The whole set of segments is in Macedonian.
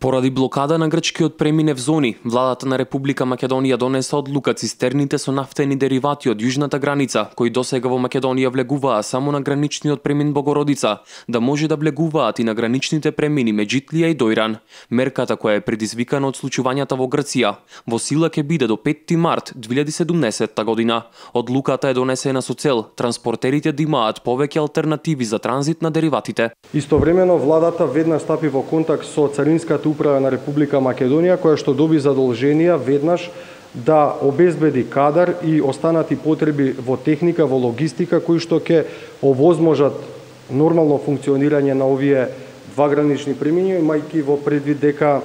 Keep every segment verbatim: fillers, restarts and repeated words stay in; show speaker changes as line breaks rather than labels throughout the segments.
Поради блокада на грчкиот преминев зони, владата на Република Македонија донесе одлука цистерните со нафтени деривати од јужната граница, кои досега во Македонија влегуваа само на граничниот премин Богородица, да може да влегуваат и на граничните премини Меджитлија и Дојран. Мерката, која е предизвикана од случувањата во Грција, во сила ќе биде до петти март две илјади и седумнесетта година. Одлуката е донесена со цел транспортерите да имаат повеќе алтернативи за транзит на дериватите.
Истовремено владата веднаш стапи во контакт со Царинската управа на Република Македонија, која што доби задолженија веднаш да обезбеди кадар и останати потреби во техника, во логистика, кои што ќе овозможат нормално функционирање на овие два гранични премини, имајќи во предвид дека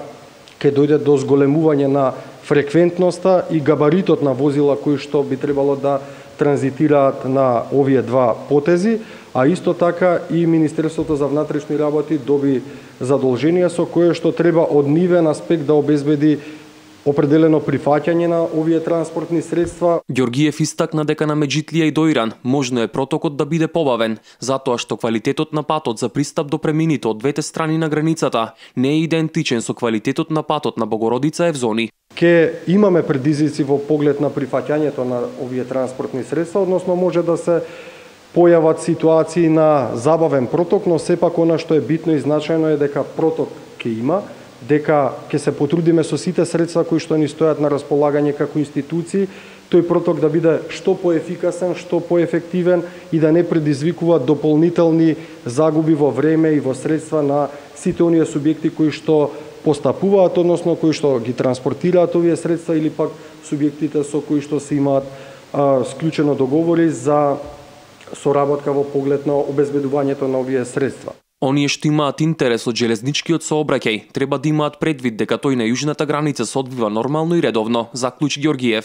ќе дојде до зголемување на фреквентноста и габаритот на возила кои што би требало да транзитираат на овие два потези, а исто така и Министерството за внатрешни работи доби задолженија со кое што треба од нивен аспект да обезбеди определено прифаќање на овие транспортни средства.
Ѓоргиев истакна дека на Меджитлија и Дојран можно е протокот да биде побавен, затоа што квалитетот на патот за пристап до премините од двете страни на границата не е идентичен со квалитетот на патот на Богородица и Евзони.
Ке имаме предизвици во поглед на прифаќањето на овие транспортни средства, односно може да се појават ситуации на забавен проток, но сепак она што е битно и значајно е дека проток ќе има, дека ќе се потрудиме со сите средства кои што ни стојат на располагање како институции, тој проток да биде што поефикасен, што поефективен и да не предизвикува дополнителни загуби во време и во средства на сите оние субјекти кои што постапуваат, односно кои што ги транспортираат овие средства или пак субјектите со кои што се имаат а, склучено договори за соработка во поглед на обезбедувањето на овие средства.
Оние што имаат интерес од железничкиот сообраќај треба да имаат предвид дека тој на јужната граница се одвива нормално и редовно, заклучи Ѓоргиев.